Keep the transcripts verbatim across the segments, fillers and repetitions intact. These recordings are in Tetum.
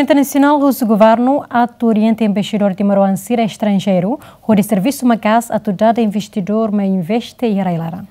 Parlamentu Nasionál husu governu atu orienta embaixadór timoroan sira estranjeiru hodi servisu maka'as atu dada investidór mai investe iha rai-laran.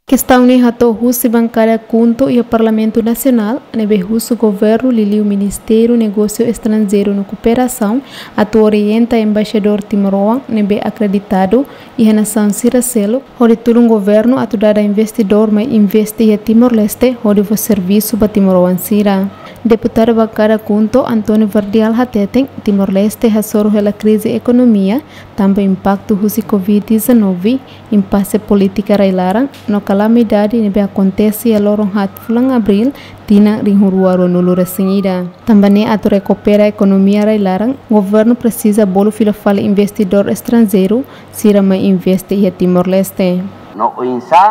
Kestaun ne'e hato'o husi bankada KHUNTO iha Parlamentu Nasionál, ne'ebé husu governu liuliu Ministériu Negósiu Estranjeiru no Kooperasaun atu orienta embaixadór timoroan ne'ebé akreditadu iha nasaun sira seluk, hodi tulun governu atu dada investidór mai investe iha Timor-Leste hodi fó servisu ba timoroan sira. Deputadu bankada KHUNTO António Verdial hateten, Timor-Leste hasoru hela krize ekonomia, tanba impaktu husi covid dezanove, impase polítika rai-laran, no kalamidade ne'ebé akontese iha loron haat fulan Abríl, tinan rihun rua ruanulu resin ida. Tanba ne'e atu rekupera ekonomia rai-laran, governu presiza bolu fila fali investidór estranjeiru sira mai investe iha Timor-Leste. No oinsá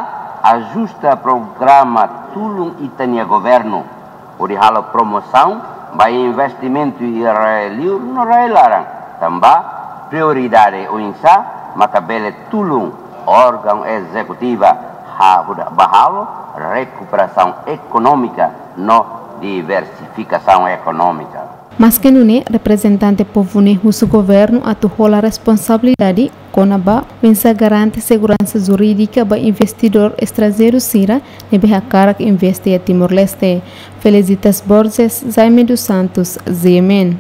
ajusta programa tulun ita-nia governu hodi halo promosaun ba investimentu iha rai-liur no rai-laran, tanba prioridade oinsá maka bele tulun órgaun ezekutiva ha-, ba halo rekuperasaun ekonómika no diversifikasaun ekonómika. Maske nune'e, reprezentante povu ne'e husu governu atu hola responsabilidade kona-ba oinsá garante seguransa jurídika ba investidór estranjeiru sira ne'ebé hakarak investe iha Timor-Leste. Felicitas Borges, Jaime dos Santos, G M N.